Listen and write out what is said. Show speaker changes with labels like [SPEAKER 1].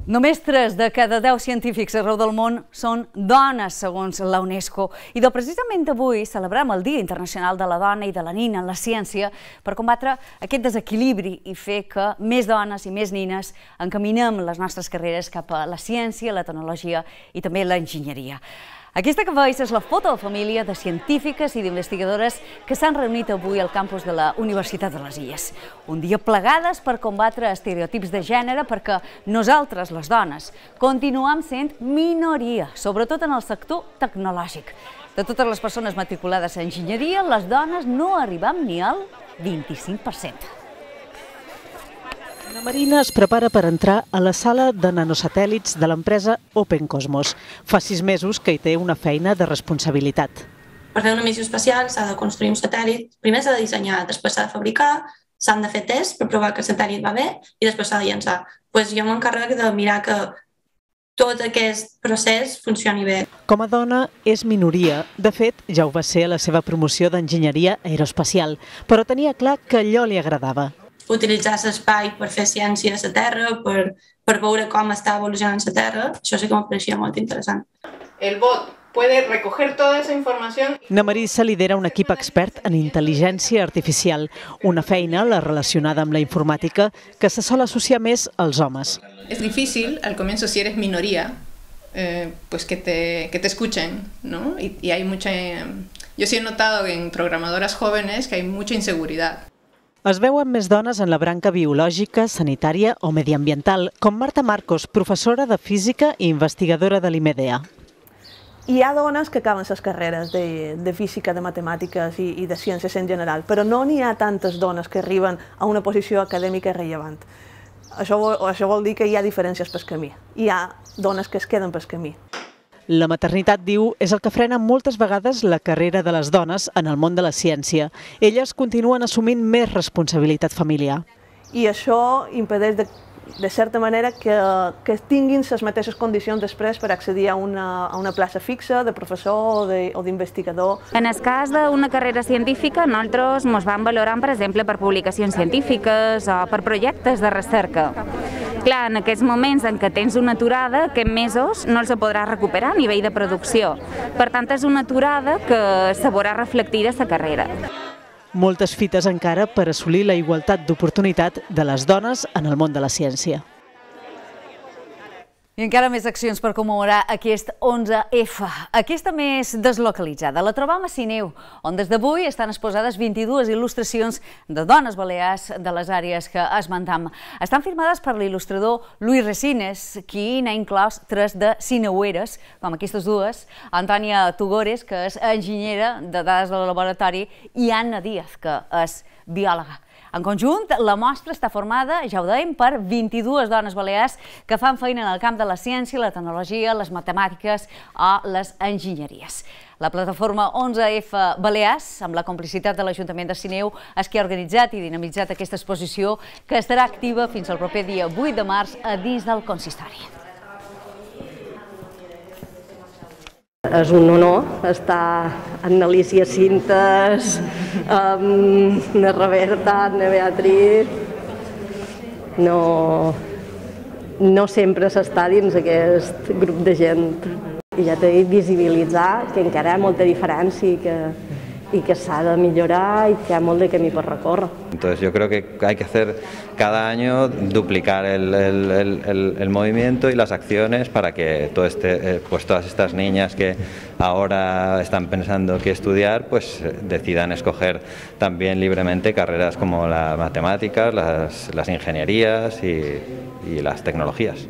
[SPEAKER 1] Només 3 de cada 10 científics arreu del món són dones, segons la UNESCO. I precisament avui celebrem el Dia Internacional de la Dona i de la Nina en la ciència per combatre aquest desequilibri i fer que més dones i més nines encaminem les nostres carreres cap a la ciència, la tecnologia i també l'enginyeria. Aquesta que veus és la foto de família de científiques i d'investigadores que s'han reunit avui al campus de la Universitat de les Illes. Un dia plegades per combatre estereotips de gènere perquè nosaltres, les dones, continuem sent minoria, sobretot en el sector tecnològic. De totes les persones matriculades a enginyeria, les dones no arribem ni al 25%.
[SPEAKER 2] La Marina es prepara per entrar a la sala de nanosatèl·lits de l'empresa Open Cosmos. Fa 6 mesos que hi té una feina de responsabilitat.
[SPEAKER 3] Per fer una missió espacial s'ha de construir un satèl·lit. Primer s'ha de dissenyar, després s'ha de fabricar, s'han de fer tests per provar que el satèl·lit va bé i després s'ha de llançar. Jo m'encarrego de mirar que tot aquest procés funcioni bé.
[SPEAKER 2] Com a dona és minoria. De fet, ja ho va ser a la seva promoció d'enginyeria aeroespacial, però tenia clar que allò li agradava.
[SPEAKER 3] Utilitzar l'espai per fer ciència a la Terra, per veure com està evolucionant la Terra, això sí que em pareixia molt interessant.
[SPEAKER 4] El bot puede recoger toda esa información.
[SPEAKER 2] Na Marisa lidera un equip expert en intel·ligència artificial, una feina, la relacionada amb la informàtica, que se sol associar més als homes.
[SPEAKER 4] Es difícil al comienzo si eres minoría, pues que te escuchen, ¿no? Y hay mucha... Yo sí he notado en programadoras jóvenes que hay mucha inseguridad.
[SPEAKER 2] Es veuen més dones en la branca biològica, sanitària o mediambiental, com Marta Marcos, professora de física i investigadora de l'IMEDEA.
[SPEAKER 5] Hi ha dones que acaben les carreres de física, de matemàtiques i de ciències en general, però no n'hi ha tantes dones que arriben a una posició acadèmica rellevant. Això vol dir que hi ha diferències pel camí. Hi ha dones que es queden pel camí.
[SPEAKER 2] La maternitat, diu, és el que frena moltes vegades la carrera de les dones en el món de la ciència. Elles continuen assumint més responsabilitat familiar.
[SPEAKER 5] I això impedeix, de certa manera, que tinguin les mateixes condicions després per accedir a una plaça fixa de professor o d'investigador.
[SPEAKER 6] En el cas d'una carrera científica, nosaltres ens vam valorant, per exemple, per publicacions científiques o per projectes de recerca. Clar, en aquests moments en què tens una aturada, aquests mesos no els podràs recuperar a nivell de producció. Per tant, és una aturada que se veurà reflectida a la carrera.
[SPEAKER 2] Moltes fites encara per assolir la igualtat d'oportunitat de les dones en el món de la ciència.
[SPEAKER 1] I encara més accions per commemorar aquest 11F. Aquesta més deslocalitzada la trobam a Sineu, on des d'avui estan exposades 22 il·lustracions de dones balears de les àrees que esmentam. Estan firmades per l'il·lustrador Luis Resines, qui n'ha inclòs 3 de sineueres, com aquestes dues, Antònia Tugores, que és enginyera de dades del laboratori, i Anna Díaz, que és biòloga. En conjunt, la mostra està formada, ja ho dèiem, per 22 dones balears que fan feina en el camp de la ciència, la tecnologia, les matemàtiques o les enginyeries. La plataforma 11F Balears, amb la complicitat de l'Ajuntament de Sineu, és qui ha organitzat i dinamitzat aquesta exposició que estarà activa fins al proper dia 8 de març a dins del consistori.
[SPEAKER 7] És un honor estar amb l'Alícia Cintes, amb la Roberta, amb la Beatriz. No sempre s'està dins aquest grup de gent. I ja t'he dit, visibilitzar que encara hi ha molta diferència y que s'ha de millorar y que hi ha molt de camí per recórrer.
[SPEAKER 8] Entonces yo creo que hay que hacer cada año duplicar el movimiento y las acciones para que pues todas estas niñas que ahora están pensando qué estudiar, pues decidan escoger también libremente carreras como las matemáticas, las ingenierías y las tecnologías.